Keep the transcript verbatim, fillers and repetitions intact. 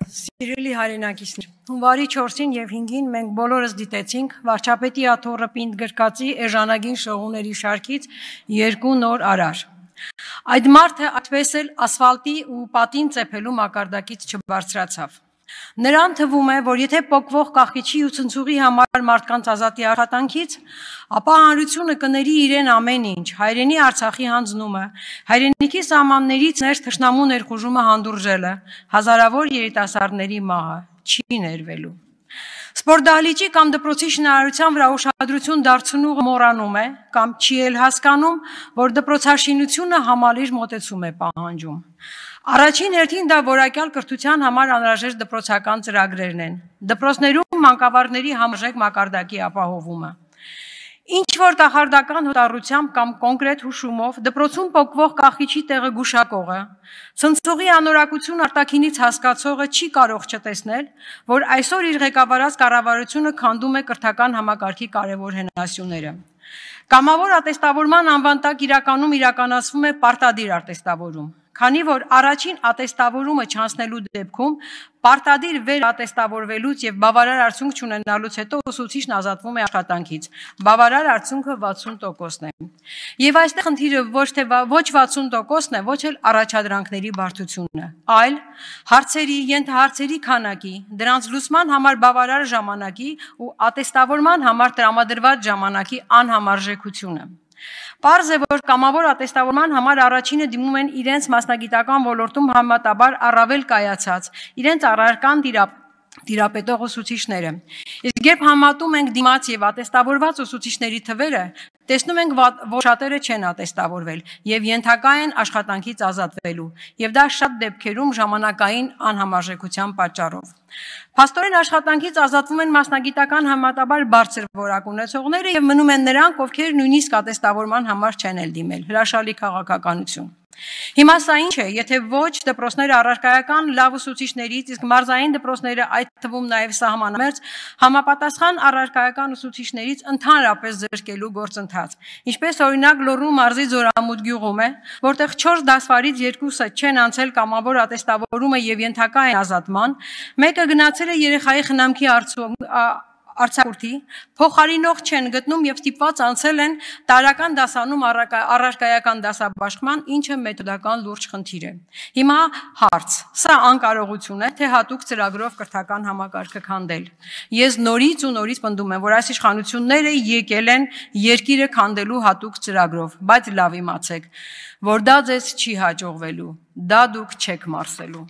Սիրելի հայրենակիցներ, հունվարի չորսին և հինգին մենք բոլորս դիտեցինք վարչապետի աթոռը պինդ գրկածի էժանագին շողունների շարքից երկու նոր արար։ Այդ մարդը այդպես էլ ասֆալտի ու պատին ծեփելու մակարդակից չբարձրացավ։ Նրան թվում է, որ եթե պոկվող կախիչի ու ցնցուղի համար մարդկանց ազատի աշխատանքից, ապա հանրությունը կների իրեն ամեն ինչ, հայրենի Արցախի հանձնումը, հայրենիքի սահմաններից ներս թշնամու ներխուժումը հանդուրժելը, հազարավոր երիտասարդների մահը չի ներվելու։ Սպորտդահլիճի կամ դպրոցի շինարարության վրա ուշադրություն դարձնողը մոռանում է կամ չի էլ հասկանում, որ դպրոցաշինությունը համալիր մոտեցում է պահանջում։ Առաջին հերթին դա որակյալ կրթության համար անհրաժեշտ դպրոցական ծրագրերն են, դպրոցներում մանկավարժների համարժեք մակարդակի ապահովումը։ Ինչ որ կախարդական հոտառությամբ կամ կոնկրետ հուշումով դպրոցում պոկվող կախիչի տեղը գուշակողը, ցնցողի անորակություն արտաքինից հասկացողը չի կարող չտեսնել, որ այսօր իր ղեկավարած կառավարությունը քանդում է կրթական համակարգի կարևոր հենասյուները։ Կամավոր ատեստավորման անվան տակ իրականում իրականացվում է պարտադիր ատեստավորում, քանի որ առաջին ատեստավորումը չանցնելու դեպքում պարտադիր վերատեստավորվելուց եւ բավարար արդյունք չունենալուց հետո ուսուցիչն ազատվում է աշխատանքից։ Բավարար արդյունքը վաթսուն տոկոսն է։ Եվ այստեղ խնդիրը ոչ թե ոչ վաթսուն տոկոսն է, ոչ էլ առաջադրանքների բարդությունը, այլ հարցերի, ենթահարցերի քանակի, դրանց լուծման համար բավարար ժամանակի ու ատեստավորման համար տրամադրված ժամանակի անհամարժեքությունը։ Պարզ է, որ կամավոր ատեստավորման համար առաջինը դիմում են իրենց մասնագիտական ոլորտում համեմատաբար առավել կայացած, իրենց առարկան տիրապետող ուսուցիչները։ Իսկ երբ համատում ենք դիմաց եւ ատեստավորված ուսուցիչների թվերը, տեսնում ենք, որ շատերը չեն ատեստավորվել եւ ենթակա են աշխատանքից ազատվելու, եւ դա շատ դեպքերում ժամանակային անհամարժեքության պատճառով։ Փաստորեն աշխատանքից ազատվում են մասնագիտական համատաբար բարձր որակ ունեցողները եւ մնում են նրանք, ովքեր նույնիսկ ատեստավորման համար չեն էլ դիմել։ Հրաշալի քաղաքականություն։ Հիմա սա ինչ է, եթե ոչ դպրոցները առարկայական լավ ուսուցիչներից, իսկ մարզային դպրոցները, այդ թվում նաև սահմանամերձ, համապատասխան առարկայական ուսուցիչներից ընդհանրապես զրկելու գործընթաց։ Ինչպես օրինակ Լոռու մարզի Ձորամուտ գյուղում է, որտեղ չորս դասվարից երկուսը չեն անցել կամավոր ատեստավորումը եւ ենթակա են ազատման, մեկը գնացել է երեխայի խնամքի արձակուրդի, փոխարինող չեն գտնում եւ ստիպված անցել են տարական դասանում առարկայական դասաբաշխման, ինչը մեթոդական լուրջ խնդիր է։ Հիմա հարց. սա անկարողություն է, թե հատուկ ծրագրով կրթական համակարգը քանդել։ Ես նորից ու նորից պնդում եմ, որ այս իշխանությունները եկել են երկիրը քանդելու հատուկ ծրագրով, բայց լավ իմացեք, որ դա ձեզ չի հաջողվելու, դա դուք չեք մարսելու։